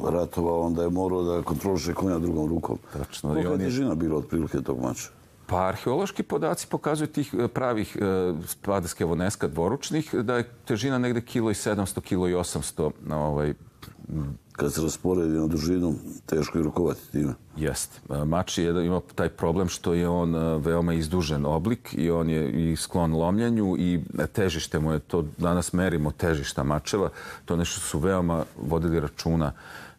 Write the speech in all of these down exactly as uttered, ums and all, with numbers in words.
ratovao, onda je morao da kontroliše konja drugom rukom. Tačno. Kolika je težina bila otprilike tog mača? Pa arheološki podaci pokazuju tih pravih spaderske voneska dvoručnih da je težina negde kilo i sedamsto, kilo i osamsto. Kad se rasporedi na dužinu, teško je rukovati time. Jeste. Mač ima taj problem što je on veoma izdužen oblik i on je i sklon lomljenju i težište mu je, to danas merimo težišta mačeva, to nešto su veoma vodili računa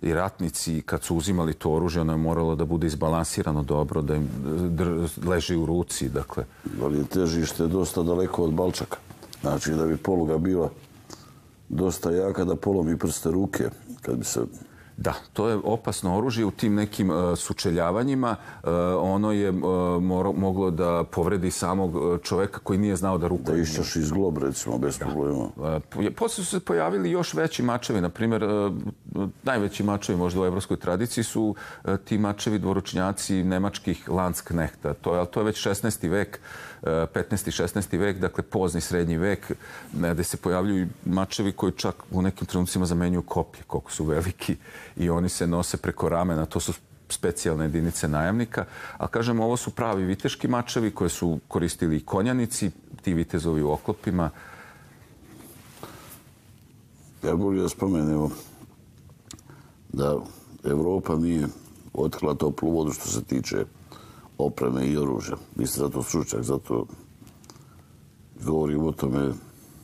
i ratnici kad su uzimali to oružje, ono je moralo da bude izbalansirano dobro, da im leži u ruci, dakle. Ali je težište dosta daleko od balčaka. Znači da bi poluga bila dosta jaka da polomi prste ruke, kad bi se... Da, to je opasno oružje u tim nekim sučeljavanjima. Ono je moglo da povredi samog čoveka koji nije znao da rukuje. Da išćaš iz glob, recimo, bez problema. Posle su se pojavili još veći mačevi. Naprimjer, najveći mačevi možda u evropskoj tradiciji su ti mačevi dvoručnjaci nemačkih Landsknehta. To je već šesnaesti vek, petnaesti šesnaesti vek, dakle pozni srednji vek, gde se pojavljuju mačevi koji čak u nekim trenucima zamenjuju koplje, koliko su veliki, i oni se nose preko ramena. To su specijalne jedinice najamnika. A kažem, ovo su pravi viteški mačevi koje su koristili i konjanici, ti vitezovi u oklopima. Ja bolje da spomenemo da Evropa nije otkrila toplu vodu što se tiče opreme i oružja. Vi ste zato stručnjak, zato govorim o tome.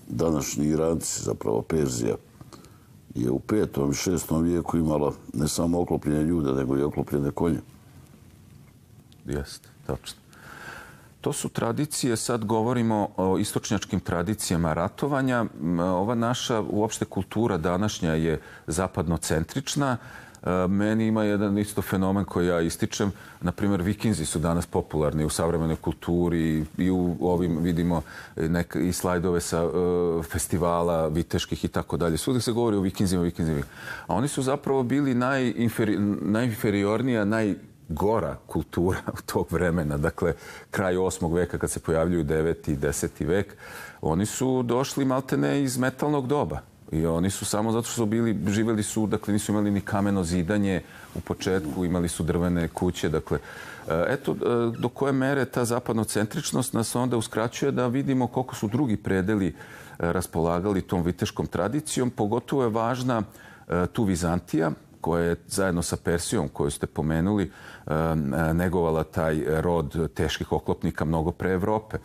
Današnji Iranci, zapravo Perzija, je u petom i šestom vijeku imala ne samo oklopljene ljude, nego i oklopljene konje. Jeste, tačno. To su tradicije, sad govorimo o istočnjačkim tradicijama ratovanja. Ova naša uopšte kultura današnja je zapadnocentrična. Meni ima jedan isto fenomen koji ja ističem. Naprimjer, vikinzi su danas popularni u savremenoj kulturi i u ovim vidimo i slajdove sa festivala viteških i tako dalje. Svugdje se govori o vikinzima, vikinzima. A oni su zapravo bili najinferiornija, najgora kultura tog vremena. Dakle, kraj osmog veka kad se pojavljuju deveti i deseti vek. Oni su došli maltene iz metalnog doba. I oni su samo zato što su bili, živjeli su, dakle nisu imali ni kameno zidanje u početku, imali su drvene kuće, dakle. Eto, do koje mere ta zapadnocentričnost nas onda uskraćuje da vidimo koliko su drugi predeli raspolagali tom viteškom tradicijom. Pogotovo je važna tu Vizantija, koja je zajedno sa Persijom, koju ste pomenuli, negovala taj rod teških oklopnika mnogo pre Evrope.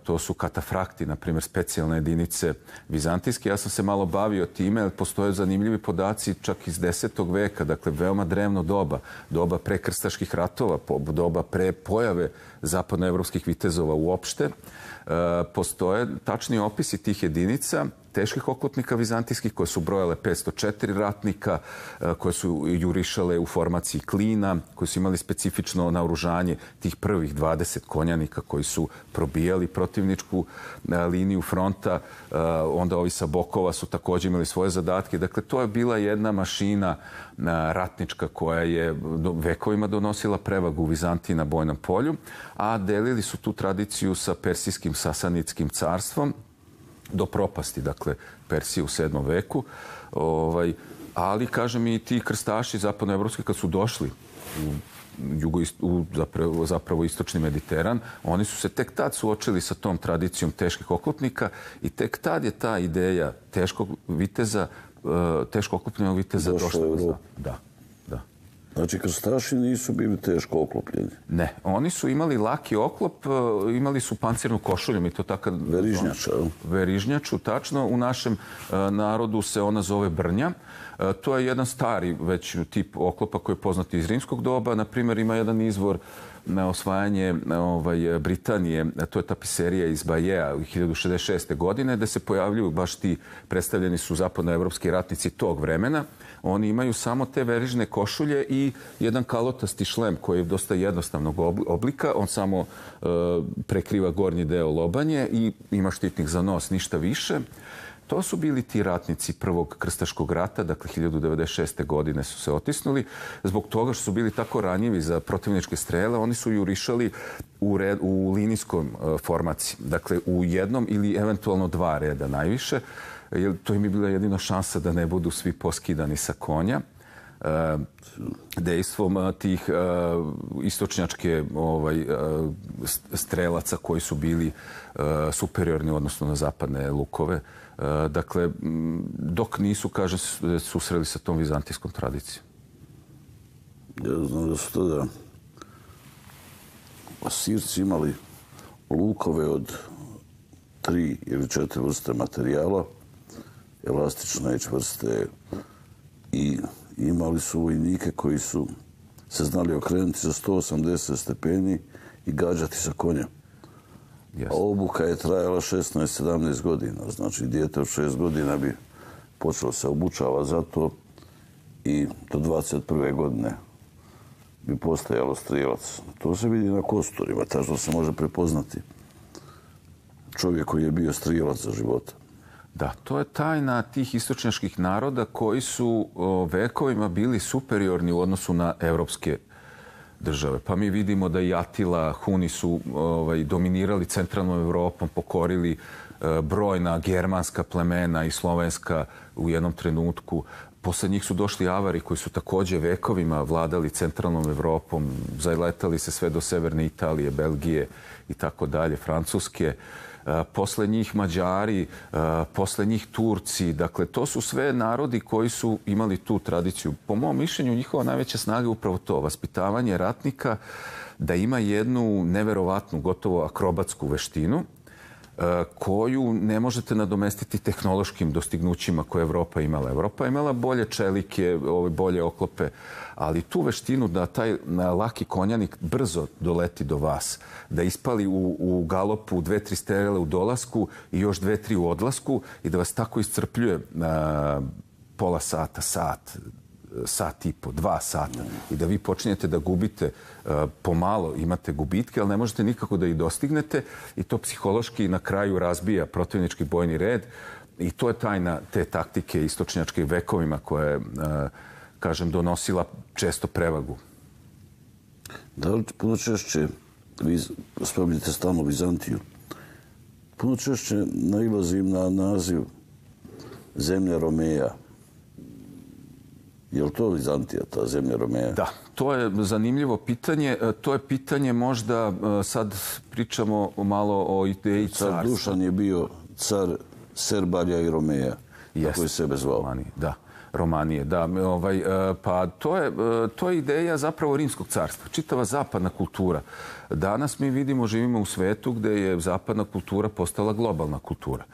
To su katafrakti, na primjer, specijalne jedinice vizantijske. Ja sam se malo bavio time, jer postoje zanimljivi podaci čak iz desetog veka, dakle, veoma drevno doba, doba pre krstaških ratova, doba pre pojave zapadnoevropskih vitezova uopšte. Postoje tačni opisi tih jedinica, teških oklopnika vizantijskih, koje su brojale petsto četiri ratnika, koje su jurišale u formaciji klina, koji su imali specifično naoružanje tih prvih dvadeset konjanika koji su probijali protivničku liniju fronta. Onda ovi sa bokova su također imali svoje zadatke. Dakle, to je bila jedna mašina ratnička koja je vekovima donosila prevagu u Vizantiji na bojnom polju, a delili su tu tradiciju sa Persijskim Sasanitskim carstvom do propasti, dakle, Persije u sedmom veku. Ali, kažem, i ti krstaši zapadnoevropski kad su došli u zapravo istočni Mediteran, oni su se tek tad suočili sa tom tradicijom teških oklopnika i tek tad je ta ideja teškog viteza, teško oklopljenog viteza došla u Evropu. Da, da. Znači, krstaši nisu bili teško oklopljeni? Ne, oni su imali laki oklop, imali su pancirnu košulju, mi to tako... Verižnjača. Verižnjaču, tačno. U našem narodu se ona zove brnja. To je jedan stari već tip oklopa koji je poznat iz rimskog doba. Naprimjer, ima jedan izvor na osvajanje Britanije, to je tapiserija iz Bajea u hiljadu šezdeset šeste. godine, gde se pojavljuju baš ti, predstavljeni su zapadnoevropski ratnici tog vremena. Oni imaju samo te verižne košulje i jedan kalotasti šlem koji je dosta jednostavnog oblika. On samo prekriva gornji deo lobanje i ima štitnik za nos, ništa više. To su bili ti ratnici prvog krstaškog rata, dakle hiljadu devedeset šeste. godine su se otisnuli. Zbog toga što su bili tako ranjivi za protivničke strele, oni su jurišali u, red, u linijskom formaciji. Dakle, u jednom ili eventualno dva reda najviše. jer to im je bila jedina šansa da ne budu svi poskidani sa konja. Dejstvom tih istočnjačke ovaj, strelaca koji su bili superiorni odnosno na zapadne lukove. Dakle, dok nisu, kaže, susreli sa tom vizantijskom tradicijom. Ja znam da su tada Asirci imali lukove od tri ili četiri vrste materijala, elastične i čvrste, i imali su vojnike koji su se znali okrenuti za sto osamdeset stepeni i gađati sa konja. Yes. A obuka je trajala šesnaest sedamnaest godina. Znači, dijete od šest godina bi počelo se obučava za to i do dvadeset prve godine bi postajalo strijelac. To se vidi na kosturima, tačno se može prepoznati čovjek koji je bio strijelac za života. Da, to je tajna tih istočnjačkih naroda koji su vekovima bili superiorni u odnosu na evropske države. Pa mi vidimo da i Atila, Huni su ovaj, dominirali centralnom Evropom, pokorili e, brojna germanska plemena i slovenska u jednom trenutku. Posle njih su došli Avari koji su također vekovima vladali centralnom Evropom, zaletali se sve do severne Italije, Belgije i tako dalje, Francuske. Posle njih Mađari, posle njih Turci. Dakle, to su sve narodi koji su imali tu tradiciju. Po mom mišljenju, njihova najveća snaga je upravo to, vaspitavanje ratnika da ima jednu neverovatnu, gotovo akrobatsku veštinu koju ne možete nadomestiti tehnološkim dostignućima koje je Evropa imala. Evropa je imala bolje čelike, bolje oklope, ali tu veštinu da taj laki konjanik brzo doleti do vas, da ispali u, u galopu dve, tri strele u dolasku i još dve, tri u odlasku i da vas tako iscrpljuje a, pola sata, sat, sat i po, dva sata i da vi počinjete da gubite uh, pomalo, imate gubitke, ali ne možete nikako da ih dostignete i to psihološki na kraju razbija protivnički bojni red i to je tajna te taktike istočnjačke vekovima koja je, uh, kažem, donosila često prevagu. Da li puno češće, vi spominjete stalno Vizantiju, puno češće nailazim na naziv zemlja Romeja. Je li to Vizantija, ta zemlja Romeja? Da, to je zanimljivo pitanje. To je pitanje možda, sad pričamo malo o ideji carstva. Car Dušan je bio car Serbalja i Romeja, kako je sebe zvao. Romanije, da. Romanije, da. Ovaj, pa to je, to je ideja zapravo rimskog carstva. Čitava zapadna kultura. Danas mi vidimo, živimo u svetu gde je zapadna kultura postala globalna kultura.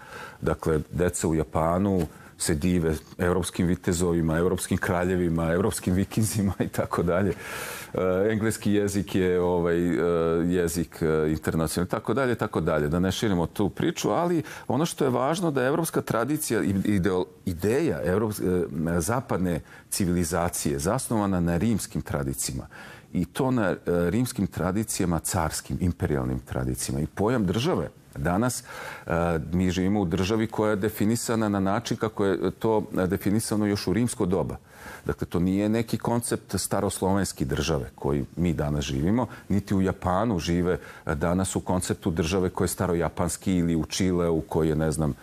Dakle, deca u Japanu se dive evropskim vitezovima, evropskim kraljevima, evropskim vikinzima i tako dalje. Engleski jezik je ovaj jezik internacionalni, tako dalje, tako dalje. Da ne širimo tu priču, ali ono što je važno da je evropska tradicija i ideja evropske, zapadne civilizacije zasnovana na rimskim tradicijama i to na rimskim tradicijama, carskim, imperijalnim tradicijama i pojam države. Danas mi živimo u državi koja je definisana na način kako je to definisano još u rimsko doba. Dakle, to nije neki koncept staroslovenski države koji mi danas živimo, niti u Japanu žive danas u konceptu države koje je starojapanski ili u Čileu koji je, ne znam,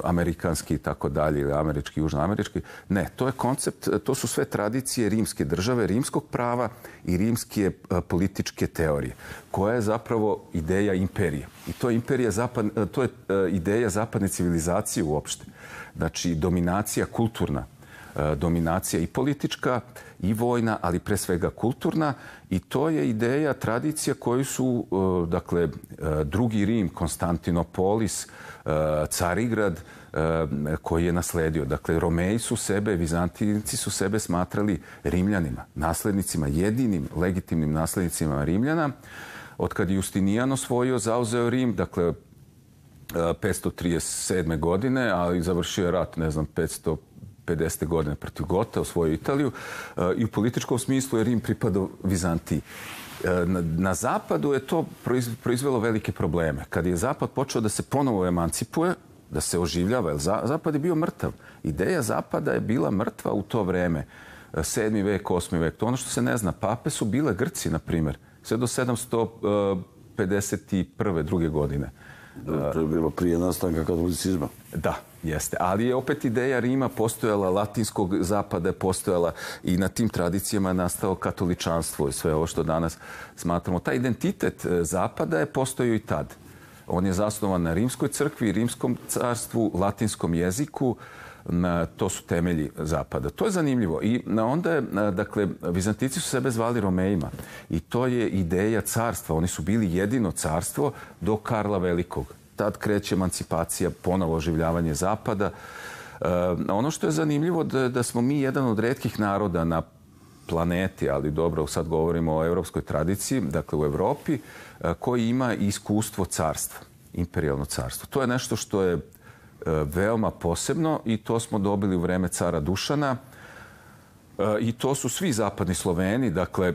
amerikanski i tako dalje, ili američki, južnoamerički. Ne, to je koncept, to su sve tradicije rimske države, rimskog prava i rimske političke teorije, koja je zapravo ideja imperije. I to je, imperija zapad, to je ideja zapadne civilizacije uopšte. Znači, dominacija kulturna, dominacija i politička i vojna, ali pre svega kulturna. I to je ideja, tradicija koju su, dakle, drugi Rim, Konstantinopolis, Carigrad, koji je nasledio. Dakle, Romeji su sebe, Vizantinci su sebe smatrali Rimljanima, naslednicima, jedinim legitimnim naslednicima Rimljana. Od kad je Justinijan osvojio, zauzeo Rim, dakle, petsto trideset sedme. godine, ali završio je rat, ne znam, petsto pedesete. godine protiv Gota, osvojio Italiju i u političkom smislu je Rim pripadao Vizantiji. Na, na zapadu je to proizvelo velike probleme. Kad je zapad počeo da se ponovo emancipuje, da se oživljava, jer zapad je bio mrtav. Ideja zapada je bila mrtva u to vreme. Sedmi vek, osmi vek, to ono što se ne zna. Pape su bile Grci, na primjer, sve do sedamsto pedeset prve. druge godine. To je bilo prije nastanka katolicizma. Da, jeste. Ali je opet ideja Rima postojala, latinskog zapada je postojala i na tim tradicijama je nastao katoličanstvo i sve ovo što danas smatramo. Taj identitet zapada je postojao i tad. On je zasnovan na rimskoj crkvi, rimskom carstvu, latinskom jeziku. To su temelji zapada. To je zanimljivo. I onda je, dakle, Vizantici su sebe zvali Romejima. I to je ideja carstva. Oni su bili jedino carstvo do Karla Velikog. Tad kreće emancipacija, ponovo oživljavanje zapada. Ono što je zanimljivo da, da smo mi jedan od retkih naroda na planeti, ali dobro, sad govorimo o evropskoj tradiciji, dakle u Evropi, koji ima iskustvo carstva, imperijalno carstvo. To je nešto što je veoma posebno i to smo dobili u vreme cara Dušana i to su svi zapadni Sloveni, dakle,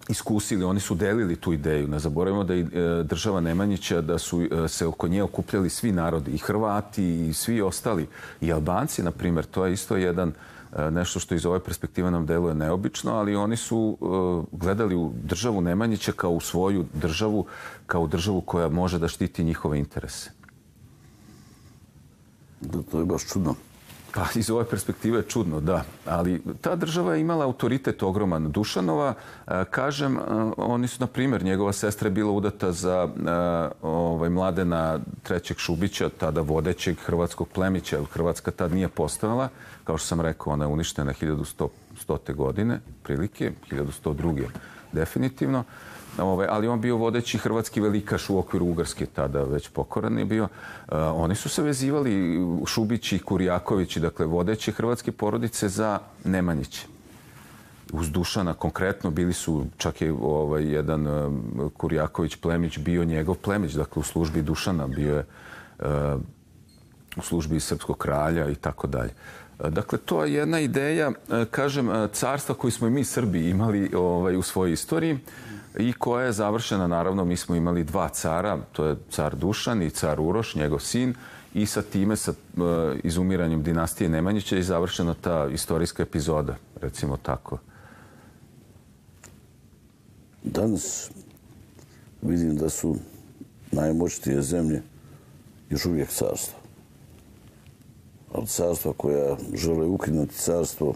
iskusili, oni su delili tu ideju. Ne zaboravimo da i država Nemanjića, da su se oko nje okupljali svi narodi, i Hrvati i svi ostali, i Albanci, na primjer. To je isto jedan nešto što iz ove perspektive nam deluje neobično, ali oni su gledali u državu Nemanjića kao u svoju državu, kao u državu koja može da štiti njihove interese. Da, to je baš čudno. Pa iz ove perspektive je čudno, da. Ali ta država je imala autoritet ogroman. Dušanova, kažem, oni su, na primjer, njegova sestra je bila udata za ovaj, Mladena trećeg Šubića, tada vodećeg hrvatskog plemića. Hrvatska tad nije postojala. Kao što sam rekao, ona je uništena hiljadu stote godine, prilike, hiljadu sto druge definitivno. Ove, ali on bio vodeći hrvatski velikaš u okviru Ugarske, tada već pokoran je bio. Uh, oni su se vezivali, Šubići i Kurjakovići, dakle vodeći hrvatske porodice za Nemanjiće. Uz Dušana konkretno bili su, čak je ovaj, jedan uh, Kurjaković plemić bio njegov plemić, dakle u službi Dušana, bio je uh, u službi srpskog kralja i tako dalje. Dakle, to je jedna ideja, kažem, carstva koju smo i mi Srbi imali ovaj, u svojoj istoriji i koja je završena, naravno, mi smo imali dva cara, to je car Dušan i car Uroš, njegov sin, i sa time, sa uh, izumiranjem dinastije Nemanjića je završena ta istorijska epizoda, recimo tako. Danas vidim da su najmoćnije zemlje još uvijek carstva. Ali carstva koja žele ukinuti carstvo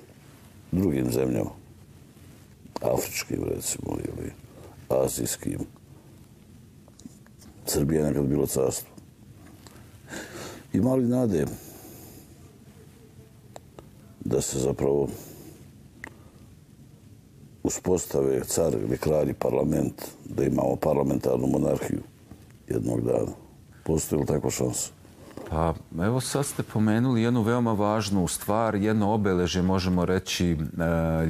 drugim zemljama. Afričkim, recimo, ili azijskim. Srbija je nekad bilo carstvo. Ima li nade da se zapravo uspostave car ili kralj parlament, da imamo parlamentarnu monarhiju jednog dana? Postoji li takva šansa? Pa, evo sad ste pomenuli jednu veoma važnu stvar, jedno obeležje, možemo reći,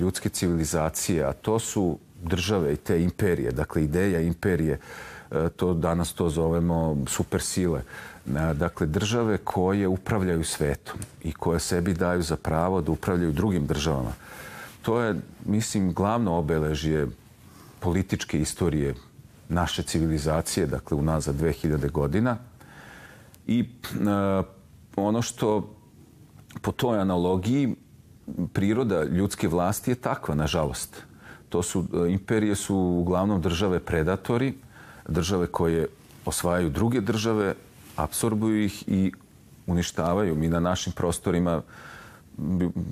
ljudske civilizacije, a to su države i te imperije, dakle ideja imperije, to danas to zovemo supersile. Dakle, države koje upravljaju svetom i koje sebi daju za pravo da upravljaju drugim državama. To je, mislim, glavno obeležje političke istorije naše civilizacije, dakle unazad dve hiljade godina. I uh, ono što po toj analogiji priroda ljudske vlasti je takva, nažalost. To su, uh, imperije su uglavnom države predatori, države koje osvajaju druge države, apsorbuju ih i uništavaju. Mi na našim prostorima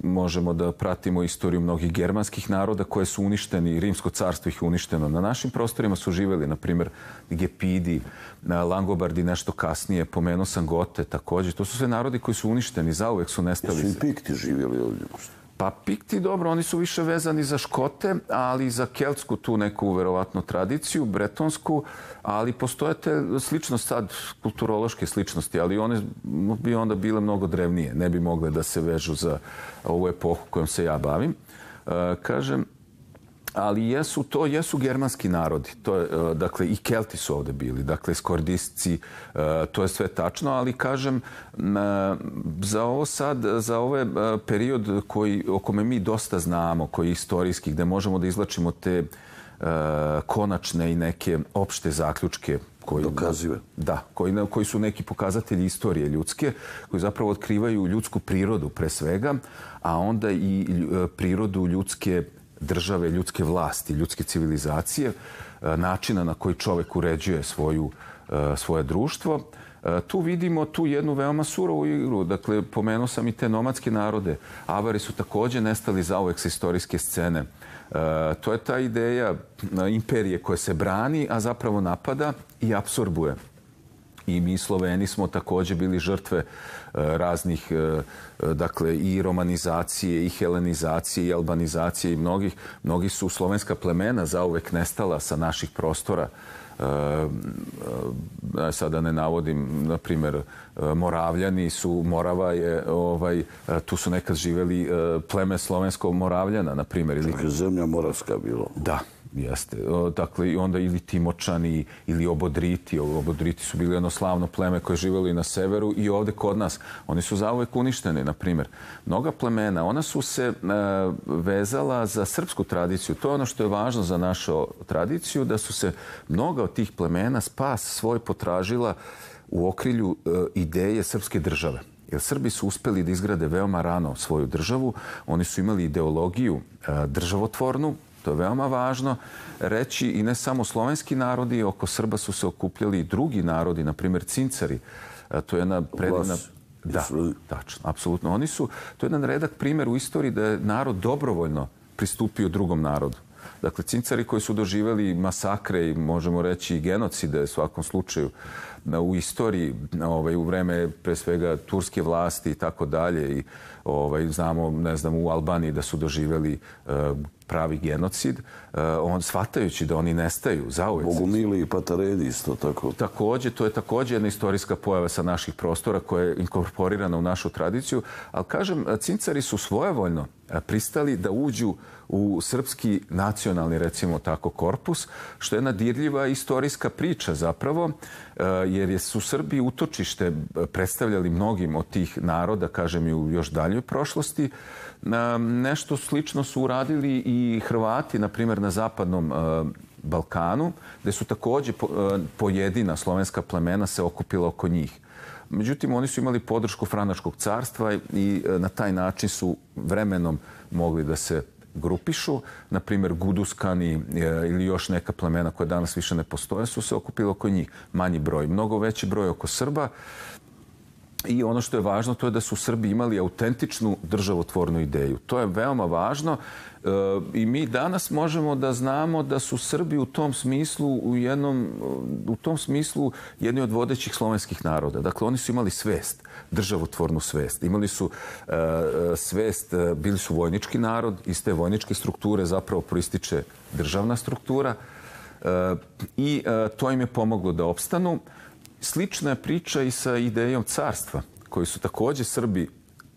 možemo da pratimo istoriju mnogih germanskih naroda koje su uništeni, Rimsko carstvo ih je uništeno. Na našim prostorima su živjeli, na primjer, Gepidi, Langobardi nešto kasnije, pomenuo sam Gote također. To su sve narodi koji su uništeni, zauvek su nestali. Jesu i Pikti živjeli ovdje? Pa Pikti, dobro, oni su više vezani za Škote, ali za keltsku tu neku verovatno tradiciju, bretonsku, ali postoje te sličnost sad, kulturološke sličnosti, ali one bi onda bile mnogo drevnije, ne bi mogle da se vežu za ovu epohu kojom se ja bavim. Uh, kažem, ali jesu, to jesu germanski narodi. To je, dakle, i Kelti su ovdje bili, dakle, skordisci, to je sve tačno, ali kažem, za ovo sad, za ovaj period koji, o kome mi dosta znamo, koji je istorijski, gde možemo da izlačimo te konačne i neke opšte zaključke koji, dokazive. Da, koji, koji su neki pokazatelji istorije ljudske, koji zapravo otkrivaju ljudsku prirodu pre svega, a onda i prirodu ljudske države, ljudske vlasti, ljudske civilizacije, načina na koji čovek uređuje svoju svoje društvo. Tu vidimo tu jednu veoma surovu igru. Dakle, pomenuo sam i te nomadske narode. Avari su također nestali zauvek sa istorijske scene. To je ta ideja imperije koja se brani, a zapravo napada i apsorbuje. I mi Sloveni smo također bili žrtve raznih, dakle, i romanizacije, i helenizacije, i albanizacije, i mnogih. Mnogi su slovenska plemena zauvek nestala sa naših prostora. Sada ne navodim, na primjer, Moravljani su, Morava je, ovaj, tu su nekad živjeli pleme slovenskog Moravljana, na primjer. Čak je zemlja Moravska bilo. Da. Jeste. Dakle, i onda ili Timočani ili Obodriti. Obodriti su bili jedno slavno pleme koje je živjelo i na severu i ovdje kod nas. Oni su zauvek uništeni, na primjer. Mnoga plemena, ona su se vezala za srpsku tradiciju. To je ono što je važno za našu tradiciju, da su se mnoga od tih plemena spas svoj potražila u okrilju ideje srpske države. Jer Srbi su uspjeli da izgrade veoma rano svoju državu. Oni su imali ideologiju državotvornu. To je veoma važno reći, i ne samo slovenski narodi, oko Srba su se okupljali i drugi narodi, na primjer Cincari. To je jedna predivna... Da, tačno, apsolutno. Oni su, to je jedan redak primjer u istoriji da je narod dobrovoljno pristupio drugom narodu. Dakle, Cincari koji su doživjeli masakre i možemo reći i genocide u svakom slučaju u istoriji, ovaj, u vreme pre svega turske vlasti i tako dalje. I ovaj, znamo, ne znam, u Albaniji da su doživjeli uh, pravi genocid, uh, on shvatajući da oni nestaju zauvek. Bogumili i Patareni isto tako. Također, to je također jedna istorijska pojava sa naših prostora koja je inkorporirana u našu tradiciju, ali kažem, Cincari su svojevoljno pristali da uđu u srpski nacionalni, recimo tako, korpus, što je jedna dirljiva istorijska priča zapravo, jer su Srbi utočište predstavljali mnogim od tih naroda, kažem i u još daljoj prošlosti. Nešto slično su uradili i Hrvati, na primjer, na zapadnom Balkanu, gdje su također pojedina slovenska plemena se okupila oko njih. Međutim, oni su imali podršku Franačkog carstva i na taj način su vremenom mogli da se grupišu. Na primjer, Guduskani ili još neka plemena koja danas više ne postoje su se okupili oko njih. Manji broj, mnogo veći broj oko Srba. I ono što je važno, to je da su Srbi imali autentičnu državotvornu ideju. To je veoma važno i mi danas možemo da znamo da su Srbi u tom smislu u jednom, u tom smislu jedni od vodećih slovenskih naroda. Dakle, oni su imali svest, državotvornu svest. Imali su uh, svest, bili su vojnički narod, iz te vojničke strukture zapravo proističe državna struktura uh, i uh, to im je pomoglo da opstanu. Slična je priča i sa idejom carstva, koju su također Srbi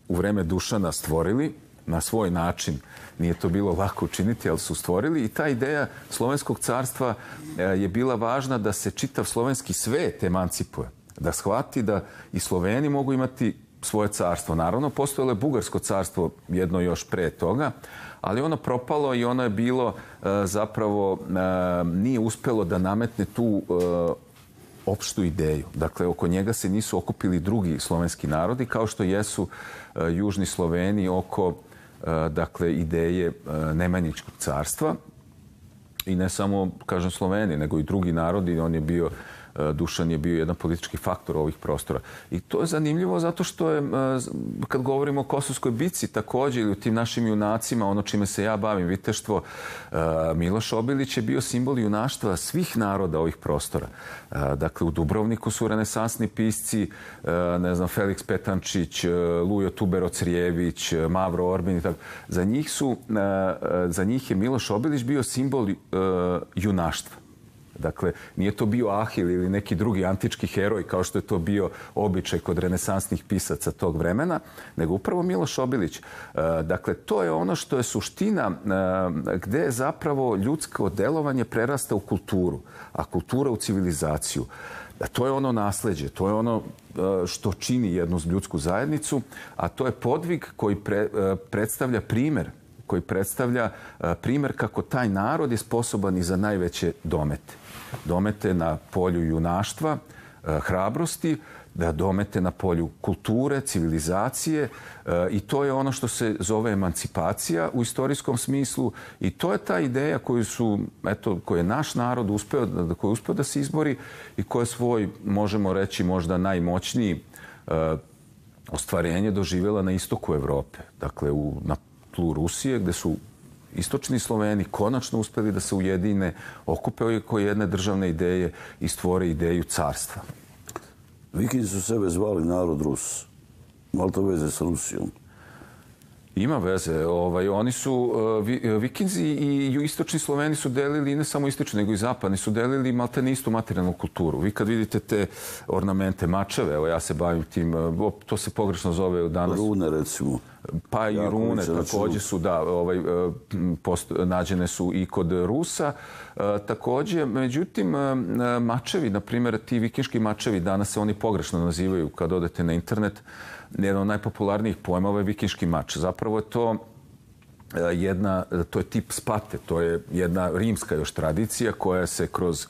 u vreme Dušana stvorili na svoj način. Nije to bilo lako učiniti, ali su stvorili. I ta ideja slovenskog carstva je bila važna da se čitav slovenski svet emancipuje. Da shvati da i Sloveni mogu imati svoje carstvo. Naravno, postojalo je Bugarsko carstvo jedno još pre toga, ali ono propalo i ono je bilo zapravo, nije uspjelo da nametne tu opštu ideju. Dakle, oko njega se nisu okupili drugi slovenski narodi, kao što jesu uh, južni Sloveni oko uh, dakle, ideje uh, Nemanjičkog carstva. I ne samo, kažem, Sloveni, nego i drugi narodi. On je bio, Dušan je bio jedan politički faktor ovih prostora. I to je zanimljivo zato što je, kad govorimo o Kosovskoj bitci također ili o tim našim junacima, ono čime se ja bavim, viteštvo, Miloš Obilić je bio simbol junaštva svih naroda ovih prostora. Dakle, u Dubrovniku su renesansni pisci, ne znam, Feliks Petančić, Lujo Tubero-Crijević, Mavro Orbin i tako. Za njih su, za njih je Miloš Obilić bio simbol junaštva. Dakle, nije to bio Ahil ili neki drugi antički heroj kao što je to bio običaj kod renesansnih pisaca tog vremena, nego upravo Miloš Obilić. Dakle, to je ono što je suština gde je zapravo ljudsko delovanje prerasta u kulturu, a kultura u civilizaciju. To je ono nasleđe, to je ono što čini jednu ljudsku zajednicu, a to je podvig koji pre, predstavlja primer koji predstavlja primjer kako taj narod je sposoban i za najveće domete. Domete na polju junaštva, hrabrosti, da domete na polju kulture, civilizacije i to je ono što se zove emancipacija u istorijskom smislu i to je ta ideja koju su, eto, koju je naš narod uspeo, koju je uspeo da se izbori i koja je svoj, možemo reći, možda najmoćniji ostvarenje doživjela na istoku Evrope. Dakle, u, na tlu Rusije, gde su istočni Sloveni konačno uspeli da se ujedine, okupe oko jedne državne ideje i stvore ideju carstva. Vikinzi su sebe zvali narod Rus. Malo to veze s Rusijom? Ima veze. Ovaj, oni su, uh, vi, Vikinzi i istočni Sloveni su delili, ne samo istočni, nego i zapadni, su delili maltene istu materijalnu kulturu. Vi kad vidite te ornamente, mačeve, evo ja se bavim tim, uh, to se pogrešno zove danas. Rune, recimo. Pa i jako rune također su, da, ovaj, post, nađene su i kod Rusa. E, također, međutim, mačevi, na primjer, ti vikinški mačevi, danas se oni pogrešno nazivaju kad odete na internet. Jedan od najpopularnijih pojmova je vikinški mač. Zapravo je to jedna, to je tip spate, to je jedna rimska još tradicija koja se kroz,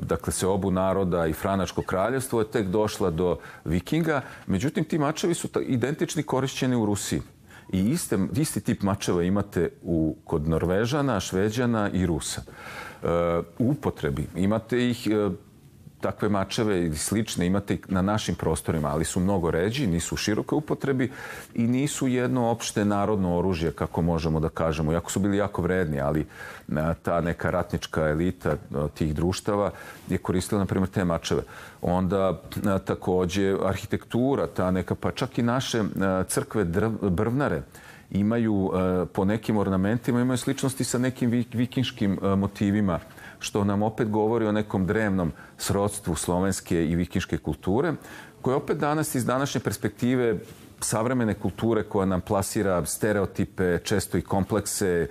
dakle, se obu naroda i Franačko kraljevstvo je tek došla do Vikinga. Međutim, ti mačevi su identični korišćeni u Rusiji. I iste, isti tip mačeva imate u, kod Norvežana, Šveđana i Rusa. U upotrebi imate ih, takve mačeve ili slične imate i na našim prostorima, ali su mnogo ređi, nisu u širokoj upotrebi i nisu jedno opšte narodno oružje, kako možemo da kažemo. Iako su bili jako vredni, ali ta neka ratnička elita tih društava je koristila, na primjer, te mačeve. Onda također arhitektura, ta neka, pa čak i naše crkve brvnare imaju po nekim ornamentima, imaju sličnosti sa nekim vikinškim motivima, što nam opet govori o nekom drevnom srodstvu slovenske i vikinške kulture, koje opet danas iz današnje perspektive savremene kulture koja nam plasira stereotipe, često i komplekse,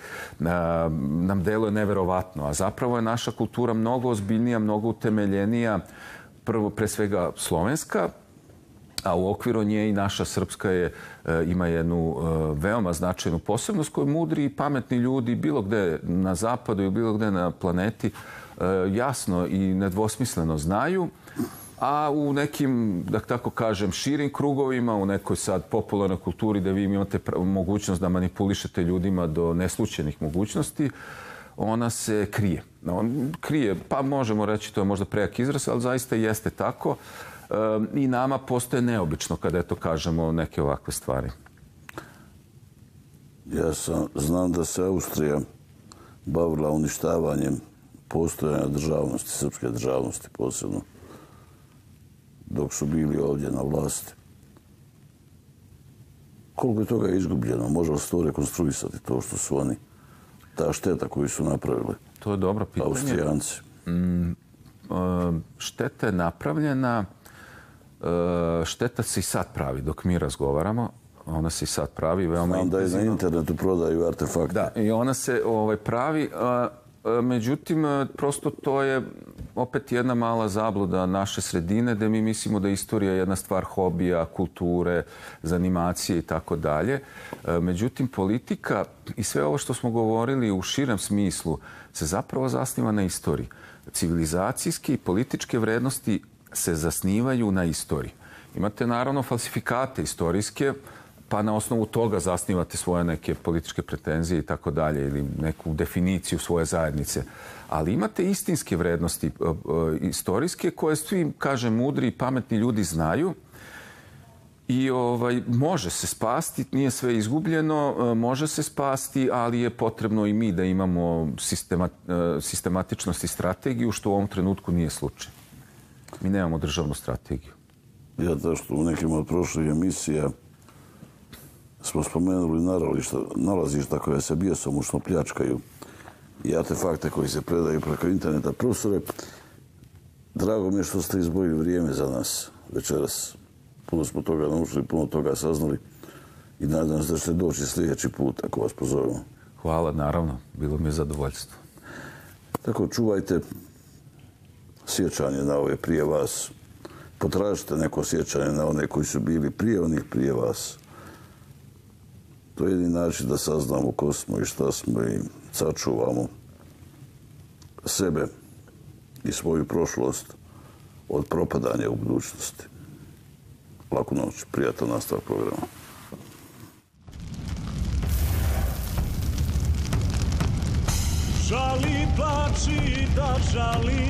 nam deluje neverovatno. A zapravo je naša kultura mnogo ozbiljnija, mnogo utemeljenija, prvo pre svega slovenska, a u okviru nje i naša srpska je, ima jednu veoma značajnu posebnost koju mudri i pametni ljudi bilo gde na zapadu i bilo gde na planeti jasno i nedvosmisleno znaju, a u nekim, da tako kažem, širim krugovima, u nekoj sad popularnoj kulturi da vi imate mogućnost da manipulišete ljudima do neslućenih mogućnosti, ona se krije. On krije, pa možemo reći, to je možda prejak izraz, ali zaista jeste tako. I nama postoje neobično kada, eto, kažemo neke ovakve stvari. Ja sam, znam da se Austrija bavila uništavanjem postojanja državnosti, srpske državnosti posebno, dok su bili ovdje na vlasti. Koliko je toga izgubljeno? Može li se to rekonstruisati, to što su oni, ta šteta koju su napravili? To je dobro pitanje. Austrijanci. Mm, šteta je napravljena. Šteta se i sad pravi dok mi razgovaramo. Ona se i sad pravi. Veoma Znam da je na internetu prodaju artefakte. Da, i ona se ovaj, pravi. A, a, međutim, prosto to je opet jedna mala zabluda naše sredine, gde mi mislimo da je istorija jedna stvar hobija, kulture, zanimacije i tako dalje. Međutim, politika i sve ovo što smo govorili u širem smislu se zapravo zasniva na istoriji. Civilizacijske i političke vrednosti se zasnivaju na istoriji. Imate naravno falsifikate istorijske, pa na osnovu toga zasnivate svoje neke političke pretenzije i tako dalje, ili neku definiciju svoje zajednice. Ali imate istinske vrednosti istorijske koje svi, kažem, mudri i pametni ljudi znaju i ovaj, može se spasti, nije sve izgubljeno, može se spasti, ali je potrebno i mi da imamo sistema, sistematičnost i strategiju, što u ovom trenutku nije slučaj. Mi nemamo državnu strategiju. Ja to što u nekim od prošlih emisija smo spomenuli nalazišta, nalazišta koje se bjesomučno pljačkaju i artefakte koji se predaju preko interneta. Profesore, drago mi je što ste izdvojili vrijeme za nas večeras. Puno smo toga naučili, puno toga saznali i nadam se da ćete doći sljedeći put ako vas pozovemo. Hvala, naravno. Bilo mi je zadovoljstvo. Tako, čuvajte sjećanje na ove prije vas. Potražite neko sjećanje na one koji su bili prije onih prije vas. To je jedini način da saznamo ko smo i šta smo i sačuvamo sebe i svoju prošlost od propadanja u budućnosti. Laku noć, prijatan nastavak programa. Žali, plači, da žali.